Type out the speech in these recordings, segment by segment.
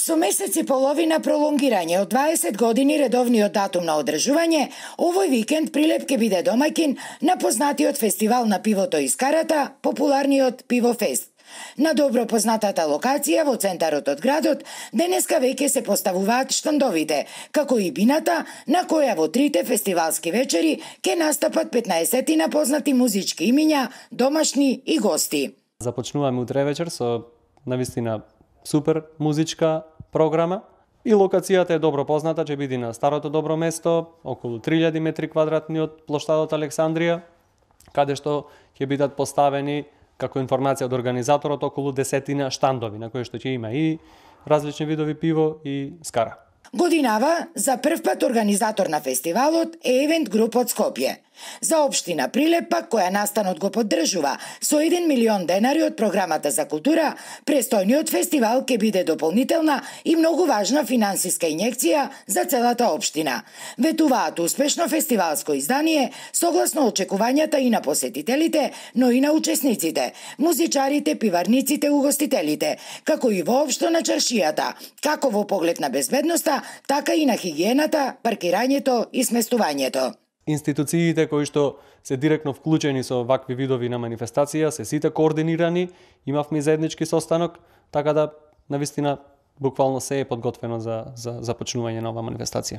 Со месец и половина пролонгирање од 20 години редовниот датум на одржување, овој викенд Прилеп ќе биде домаќин на познатиот фестивал на пивото и скарата, популарниот Пивофест. На добро познатата локација во центарот од градот, денеска веќе се поставуваат штандовите, како и бината на која во трите фестивалски вечери ќе настапат 15 познати музички имиња, домашни и гости. Започнуваме утре вечер со навистина супер музичка програма и локацијата е добро позната, ќе биде на старото добро место, околу 3000 метри квадратни од плоштадот Александрија, каде што ќе бидат поставени како информација од организаторот околу 10 штандови на кои што ќе има и различни видови пиво и скара. Годинава, за прв пат организатор на фестивалот е Евент Груп од Скопје. За општина Прилеп пак, која настанот го поддржува со 1 милион денари од програмата за култура, престојниот фестивал ќе биде дополнителна и многу важна финансиска инјекција за целата општина. Ветуваат успешно фестивалско издание согласно очекувањата и на посетителите, но и на учесниците, музичарите, пиварниците, угостителите, како и воопшто на чаршијата, како во поглед на безбедноста, така и на хигиената, паркирањето и сместувањето. Институциите кои што се директно вклучени со вакви видови на манифестација се сите координирани, имавме заеднички состанок, така да навистина буквално се е подготвено за започнување на оваа манифестација.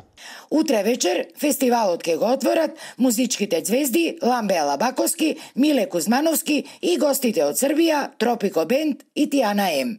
Утре вечер фестивалот ќе го отворат музичките ѕвезди Ламбе Алабаковски, Миле Кузмановски и гостите од Србија, Тропико Бенд и Тијана М.